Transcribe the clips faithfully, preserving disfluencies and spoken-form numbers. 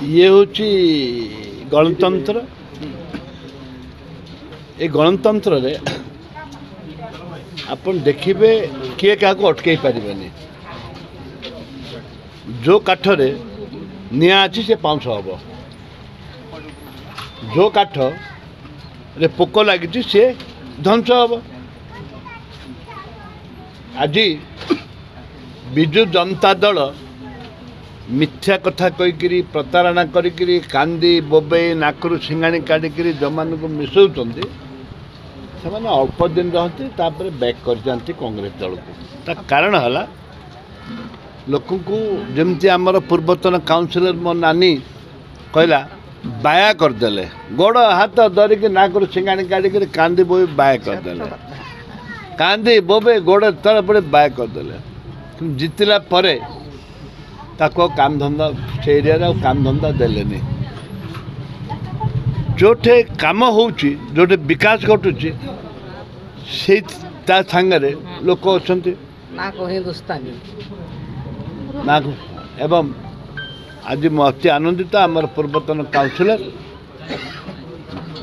ଇଏ ହେଉଛି ଗଣତନ୍ତ୍ର। ଏ ଗଣତନ୍ତ୍ରରେ ଆପଣ ଦେଖିବେ, କିଏ କାହାକୁ ଅଟକେଇ ପାରିବେନି। ଯେଉଁ କାଠରେ ନିଆଁ ଅଛି, ସେ ପାଉଁଶ ହେବ। ଯେଉଁ କାଠରେ ପୋକ ଲାଗିଛି, ସିଏ ଧ୍ୱଂସ ହେବ। ଆଜି ବିଜୁ ଜନତା ଦଳ ମିଥ୍ୟା କଥା କହିକିରି, ପ୍ରତାରଣା କରିକିରି, କାନ୍ଦି ବୋବେଇ, ନାକରୁ ସିଙ୍ଗାଣି କାଢ଼ିକିରି ଯେଉଁମାନଙ୍କୁ ମିଶାଉଛନ୍ତି, ସେମାନେ ଅଳ୍ପ ଦିନ ରହନ୍ତି, ତାପରେ ବ୍ୟାକ୍ କରିଯାଆନ୍ତି କଂଗ୍ରେସ ଦଳକୁ। ତା କାରଣ ହେଲା, ଲୋକଙ୍କୁ ଯେମିତି ଆମର ପୂର୍ବତନ କାଉନସିଲର ମୋ ନାନୀ କହିଲା, ବାୟା କରିଦେଲେ। ଗୋଡ଼ ହାତ ଧରିକି, ନାକରୁ ସିଙ୍ଗାଣି କାଢ଼ିକିରି, କାନ୍ଦି ବୋଇ ବାୟା କରିଦେଲେ। କାନ୍ଦି ବୋବେ, ଗୋଡ଼ ତଳେ ପଡ଼ି ବାୟା କରିଦେଲେ। କିନ୍ତୁ ଜିତିଲା ପରେ ତାକୁ ଆଉ କାମ ଧନ୍ଦା, ସେ ଏରିଆରେ ଆଉ କାମ ଧନ୍ଦା ଦେଲେନି। ଯେଉଁଠି କାମ ହେଉଛି, ଯେଉଁଠି ବିକାଶ ଘଟୁଛି, ସେଇ ତା ସାଙ୍ଗରେ ଲୋକ ଅଛନ୍ତି। ନା ହିନ୍ଦୁସ୍ତାନୀ। ନା, ଏବଂ ଆଜି ମୁଁ ଅତି ଆନନ୍ଦିତ। ଆମର ପୂର୍ବତନ କାଉନସିଲର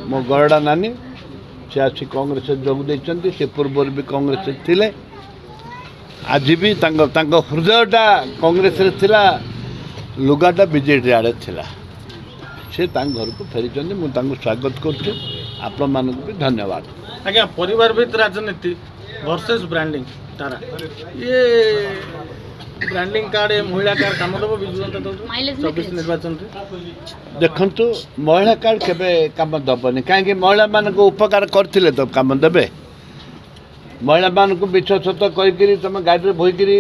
ମୋ ଗରଡ଼ା ନାନୀ, ସେ ଆସି କଂଗ୍ରେସରେ ଯୋଗ ଦେଇଛନ୍ତି। ସେ ପୂର୍ବରୁ ବି କଂଗ୍ରେସରେ ଥିଲେ, ଆଜି ବି ତାଙ୍କ ତାଙ୍କ ହୃଦୟଟା କଂଗ୍ରେସରେ ଥିଲା, ଲୁଗାଟା ବିଜେଡ଼ି ଆଡ଼େ ଥିଲା। ସେ ତାଙ୍କ ଘରକୁ ଫେରିଛନ୍ତି, ମୁଁ ତାଙ୍କୁ ସ୍ୱାଗତ କରୁଛି। ଆପଣମାନଙ୍କୁ ବି ଧନ୍ୟବାଦ। ଆଜ୍ଞା, ପରିବାର ଭିତ ରାଜନୀତି ଭର୍ସେସ୍ ବ୍ରାଣ୍ଡିଂ ତାରା, ଇଏ ବ୍ରାଣ୍ଡିଂ କାର୍ଡ, ମହିଳା କାର୍ଡ କାମ ଦେବ ବିଜୁ ଜନତା ଦଳ ଚବିଶ ନିର୍ବାଚନରେ? ଦେଖନ୍ତୁ, ମହିଳା କାର୍ଡ କେବେ କାମ ଦେବନି। କାହିଁକି? ମହିଳାମାନଙ୍କୁ ଉପକାର କରିଥିଲେ ତ କାମ ଦେବେ। ମହିଳାମାନଙ୍କୁ ମିଛ ସତ କହିକିରି, ତୁମେ ଗାଡ଼ିରେ ବୋହିକିରି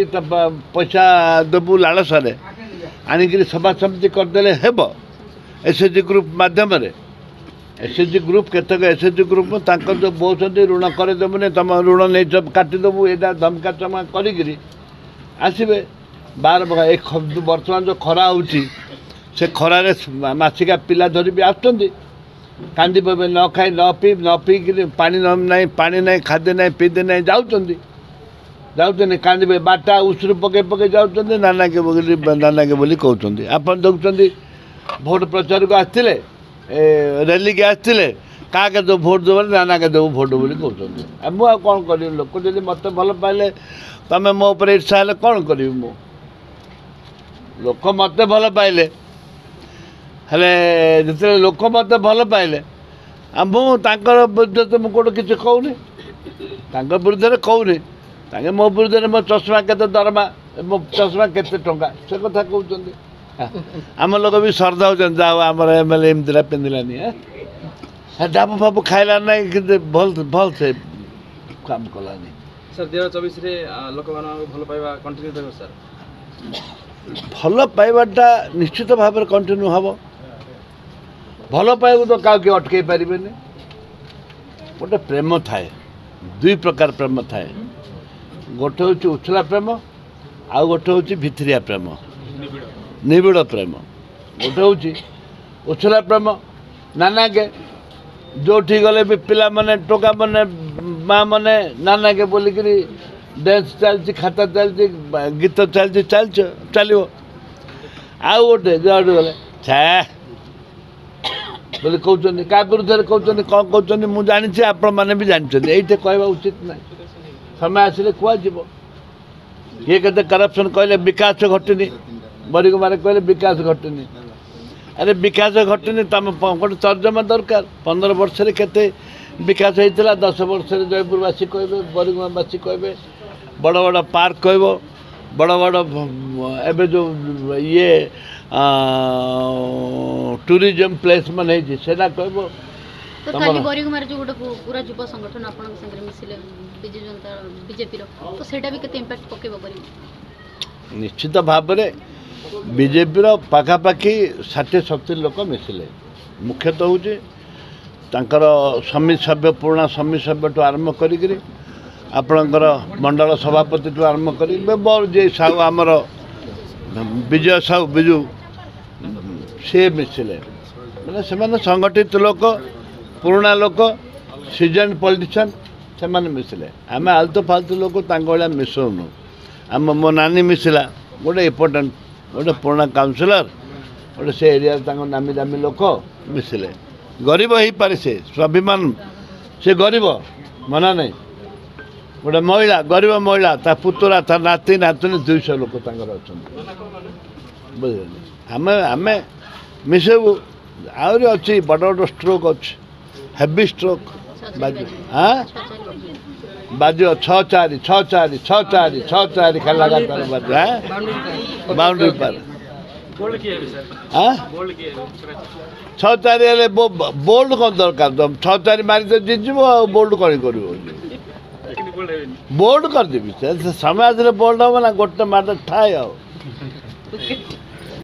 ପଇସା ଦେବୁ ଲାଳସାରେ ଆଣିକିରି ସଭା ସମିତି କରିଦେଲେ ହେବ ଏସ୍ ଏଚ୍ ଜି ଗ୍ରୁପ୍ ମାଧ୍ୟମରେ। ଏସ୍ ଏଚ୍ ଜି ଗ୍ରୁପ୍, କେତେକ ଏସ୍ ଏଚ୍ ଜି ଗ୍ରୁପ୍ ତାଙ୍କର ଯେଉଁ ବୋହୁଛନ୍ତି, ଋଣ କରିଦେବୁନି, ତୁମ ଋଣ ନେଇଛ କାଟିଦେବୁ, ଏଇଟା ଧମକା ଚମକା କରିକିରି ଆସିବେ। ବାର ଏ ବର୍ତ୍ତମାନ ଯେଉଁ ଖରା ହେଉଛି, ସେ ଖରାରେ ମାସିକା ପିଲା ଧରି ବି ଆସୁଛନ୍ତି। କାନ୍ଦି ପବେ, ନ ଖାଇ ନ ପିଇ ନ ପିଇକିରି, ପାଣି ନ ନାହିଁ, ପାଣି ନାହିଁ, ଖାଦ୍ୟ ନାହିଁ, ପିଇତେ ନାହିଁ, ଯାଉଛନ୍ତି ଯାଉଛନ୍ତି କାନ୍ଦିବେ, ବାଟା ଉଷୁରୁ ପକେଇ ପକେଇ ଯାଉଛନ୍ତି, ନାନାକେ ବୋଲି ନାନାକେ ବୋଲି କହୁଛନ୍ତି। ଆପଣ ଦେଖୁଛନ୍ତି, ଭୋଟ ପ୍ରଚାରକୁ ଆସିଥିଲେ, ଏ ର୍ୟାଲିକି ଆସିଥିଲେ, କାହାକେ ଦେବୁ ଭୋଟ ଦେବ? ନାନାକେ ଦେବୁ ଭୋଟ ବୋଲି କହୁଛନ୍ତି। ଆଉ ମୁଁ ଆଉ କ'ଣ କରିବି? ଲୋକ ଯଦି ମୋତେ ଭଲ ପାଇଲେ, ତମେ ମୋ ଉପରେ ଇର୍ଷା ହେଲେ କ'ଣ କରିବି ମୁଁ? ଲୋକ ମୋତେ ଭଲ ପାଇଲେ, ହେଲେ ଯେତେବେଳେ ଲୋକ ମୋତେ ଭଲ ପାଇଲେ, ଆଉ ମୁଁ ତାଙ୍କର ବିରୁଦ୍ଧରେ ତ ମୁଁ କେଉଁଠି କିଛି କହୁନି, ତାଙ୍କ ବିରୁଦ୍ଧରେ କହୁନି। ତାଙ୍କେ ମୋ ବିରୁଦ୍ଧରେ ମୋ ଚଷମା କେତେ ଦରମା, ମୋ ଚଷମା କେତେ ଟଙ୍କା, ସେ କଥା କହୁଛନ୍ତି। ଆମ ଲୋକ ବି ଶ୍ରଦ୍ଧା ହେଉଛନ୍ତି, ଯାଉ ଆମର ଏମ୍ ଏଲ୍ ଏ ଏମିତିଟା ପିନ୍ଧିଲାନି, ଡାବୁ ଫାବୁ ଖାଇଲା ନାହିଁ, କିନ୍ତୁ ଭଲ ଭଲ ସେ କାମ କଲାନି। ସାର୍, ଦୁଇ ହଜାର ଚବିଶରେ ଲୋକମାନଙ୍କୁ ଭଲ ପାଇବା କଣ୍ଟିନ୍ୟୁ ରହିବ ସାର୍? ଭଲ ପାଇବାଟା ନିଶ୍ଚିତ ଭାବରେ କଣ୍ଟିନ୍ୟୁ ହେବ। ଭଲ ପାଇବାକୁ ତ କାହାକୁ କିଏ ଅଟକେଇ ପାରିବେନି। ଗୋଟେ ପ୍ରେମ ଥାଏ, ଦୁଇ ପ୍ରକାର ପ୍ରେମ ଥାଏ। ଗୋଟେ ହେଉଛି ଉଛଲା ପ୍ରେମ, ଆଉ ଗୋଟେ ହେଉଛି ଭିତରିଆ ପ୍ରେମ, ନିବିଡ଼ ପ୍ରେମ। ଗୋଟେ ହେଉଛି ଉଛଲା ପ୍ରେମ, ନାନାକେ ଯେଉଁଠି ଗଲେ ବି ପିଲାମାନେ, ଟୋକାମାନେ, ମା' ମାନେ ନାନାକେ ବୋଲିକିରି ଡ୍ୟାନ୍ସ ଚାଲିଛି, ଖାତା ଚାଲିଛି, ଗୀତ ଚାଲିଛି, ଚାଲିଛି, ଚାଲିବ। ଆଉ ଗୋଟେ ଯୁଆଡ଼େ ଗଲେ ଛା ବୋଲି କହୁଛନ୍ତି। କାହା ବିରୁଦ୍ଧରେ କହୁଛନ୍ତି, କ'ଣ କହୁଛନ୍ତି, ମୁଁ ଜାଣିଛି, ଆପଣମାନେ ବି ଜାଣିଛନ୍ତି। ଏଇଠି କହିବା ଉଚିତ ନାହିଁ, ସମୟ ଆସିଲେ କୁହାଯିବ। କିଏ କେତେ କରପ୍ସନ୍ କହିଲେ ବିକାଶ ଘଟିନି। ବରିଗୁମାରେ କହିଲେ ବିକାଶ ଘଟିନି। ଆରେ, ବିକାଶ ଘଟିନି, ତମ ଗୋଟେ ତର୍ଜମା ଦରକାର। ପନ୍ଦର ବର୍ଷରେ କେତେ ବିକାଶ ହେଇଥିଲା, ଦଶ ବର୍ଷରେ, ଜୟପୁରବାସୀ କହିବେ, ବରିଗୁମାବାସୀ କହିବେ। ବଡ଼ ବଡ଼ ପାର୍କ କହିବ, ବଡ଼ ବଡ଼ ଏବେ ଯେଉଁ ଇଏ ଟୁରିଜମ୍ ପ୍ଲେସ୍ ମାନେ ହେଇଛି, ସେଇଟା କହିବ। ତ କାଲି ବରିଗୁମାରେ ଯେଉଁ ଗୋଟେ ପୁରା ଯୁବ ସଂଗଠନ ଆପଣଙ୍କ ସାଙ୍ଗରେ ମିଶିଲେ ବିଜୁ ଜନତା ବିଜେପିର, ତ ସେଇଟା ବି କେତେ ଇମ୍ପାକ୍ଟ ପକେଇବ କରିବ? ନିଶ୍ଚିତ ଭାବରେ ବିଜେପିର ପାଖାପାଖି ଷାଠିଏ ସତୁରି ଲୋକ ମିଶିଲେ। ମୁଖ୍ୟତଃ ହେଉଛି ତାଙ୍କର ସମିତି ସଭ୍ୟ, ପୁରୁଣା ସମିତି ସଭ୍ୟଠୁ ଆରମ୍ଭ କରିକିରି, ଆପଣଙ୍କର ମଣ୍ଡଳ ସଭାପତିଠୁ ଆରମ୍ଭ କରି, ଯିଏ ସାହୁ, ଆମର ବିଜୟ ସାହୁ, ବିଜୁ, ସିଏ ମିଶିଲେ। ମାନେ ସେମାନେ ସଂଗଠିତ ଲୋକ, ପୁରୁଣା ଲୋକ, ସିଜନ୍ ପଲିଟିସିଆନ୍, ସେମାନେ ମିଶିଲେ। ଆମେ ଆଲତୁ ଫାଲତୁ ଲୋକ ତାଙ୍କ ଭଳିଆ ମିଶଉନୁ। ଆମ ମୋ ନାନୀ ମିଶିଲା, ଗୋଟେ ଇମ୍ପୋର୍ଟାଣ୍ଟ, ଗୋଟେ ପୁରୁଣା କାଉନସିଲର, ଗୋଟେ ସେ ଏରିଆରେ ତାଙ୍କ ନାମୀ ଦାମୀ ଲୋକ ମିଶିଲେ। ଗରିବ ହେଇପାରେ ସେ, ସ୍ୱାଭିମାନ, ସେ ଗରିବ ମନା ନାହିଁ। ଗୋଟେ ମହିଳା, ଗରିବ ମହିଳା, ତା ପୁତୁରା, ତା ନାତି ନାତୁଣୀ ଦୁଇଶହ ଲୋକ ତାଙ୍କର ଅଛନ୍ତି, ବୁଝିଲେ? ଆମେ ଆମେ ମିଶେଇବୁ। ଆହୁରି ଅଛି, ବଡ଼ ବଡ଼ ଷ୍ଟ୍ରୋକ୍ ଅଛି, ହେଭି ଷ୍ଟ୍ରୋକ୍ ବାଜିବ। ହଁ, ବାଜିବ ଛଅ ଚାରି, ଛଅ ଚାରି, ଛଅ ଚାରି, ଛଅ ଚାରି, ଖାଲି ଲଗାତାର ବାଜିବ। ହଁ, ବାଉଣ୍ଡ୍ରି ପାର। ହଁ, ଛଅ ଚାରି ହେଲେ ବୋଲ୍ଡ କ'ଣ ଦରକାର? ଛଅ ଚାରି ମାରି ତ ଜିତିଯିବ, ଆଉ ବୋଲ୍ଡ କ'ଣ କରିବ? ବୋଲ୍ଡ କରିଦେବି। ସେ ସମୟ ଆସିଲେ ବୋଲ୍ଡ ହେବ ନା, ଗୋଟେ ମାଡ଼ ଠାଏ ଆଉ।